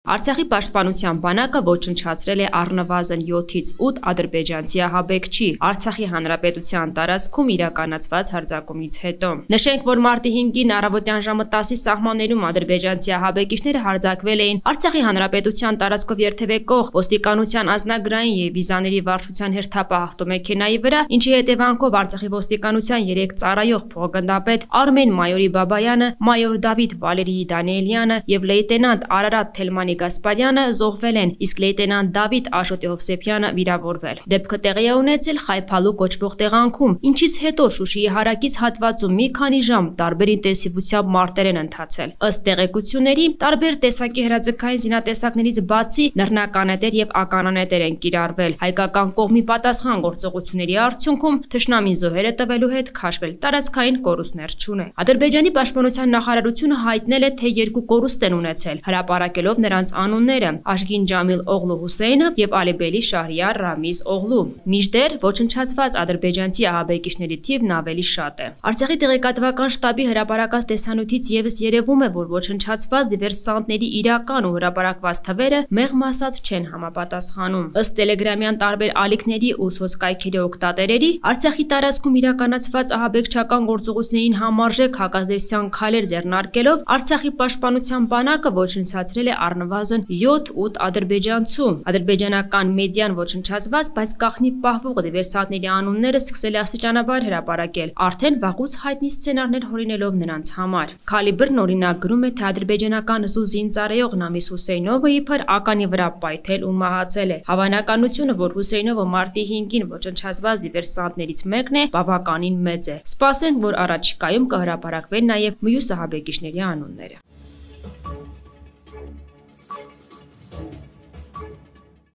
Արցախի պաշտպանության բանակը ոչնչացրել է առնվազն 7-ից 8 ադրբեջանցի ահաբեկչի Արցախի հանրապետության տարածքում իրականացված հարձակումից հետո։ Նշենք, որ մարտի 5-ին առավոտյան ժամը 10-ի սահմաններում ադրբեջանցի ահաբեկիչները հարձակվել էին Արցախի հանրապետության տարածքով երթևեկող ոստիկանության անձնագրային եւ վիզաների վարչության հերթապահ ավտոմեքենայի վրա, ինչի հետևանքով Արցախի ոստիկանության 3 ծառայող փոխգնդապետ Արմեն Մայորի Բաբայանը, մայոր Դավիթ Վալերիի Դանիելյանը եւ լեյտենանտ Արարատ Թելմանի Գասպարյանը զոհվել են, իսկ լեյտենանտ Դավիթ Աշոտի Հովսեփյանը վիրավորվել։ Դեպքը տեղի է ունեցել Խայփալու կոչվող տեղանքում, ինչից հետո Շուշիի հարակից հատվածում մի քանի ժամ տարբեր ինտենսիվությամբ մարտեր են ընթացել։ Ըստ տեղեկությունների, տարբեր տեսակի հրաձգային զինատեսակներից բացի նռնականետեր եւ ականանետեր են կիրառվել։ Հայկական կողմի պատասխան գործողությունների արդյունքում թշնամին զոհերը տվելու հետ քաշվել, տարածքային կորուստներ չունեն։ Ադրբեջանի պաշտպանության նախարարությունը հայտնել է, թե 2 կորուստ են ունեցել, հրապարակելով նրանց անունները՝ Աշգին Ջամիլ Օղլու Հուսեյնով եւ Ալիբելի Շահրիար Ռամիզ Օղլու։ Մինչդեռ ոչնչացված ադրբեջանցի ահաբեկիչների թիվն ավելի շատ է։ Արցախի տեղեկատվական շտաբի հրապարակած տեսանյութից եւս երևում է, որ ոչնչացված դիվերսանտների իրական ու հրապարակված թվերը մեղմ ասած չեն համապատասխանում։ Ըստ տելեգրամյան տարբեր ալիքների ու սոցկայքերի օգտատերերի, Արցախի տարածքում իրականացված ահաբեկչական գործողություններին համարժեք հակազդեցության քայլեր ձեռնարկելով Արցախի պաշտպանության բանակը ոչնչացրել է առնվազն 7-8 ադրբեջանցու։ Ադրբեջանական մեդիան ոչնչացված, բայց գաղտնի պահվող դիվերսանտների անունները սկսել է աստիճանաբար հրապարակել, արդեն վաղուց հայտնի սցենարներ հորինելով նրանց համար։ Քալիբրն օրինակ գրում է, թե ադրբեջանական զուզին ծառայող Նամիս Հուսեյնովը իբր ականի վրա պայթել ու մահացել է։ Հավանականությունը, որ Հուսեյնովը մարտի 5-ին ոչնչացված դիվերսանտներից մեկն է, բավականին մեծ է։ Սպասենք, որ առաջիկայում կհրապարակվեն նաև մյուս ահաբեկիչների անունները։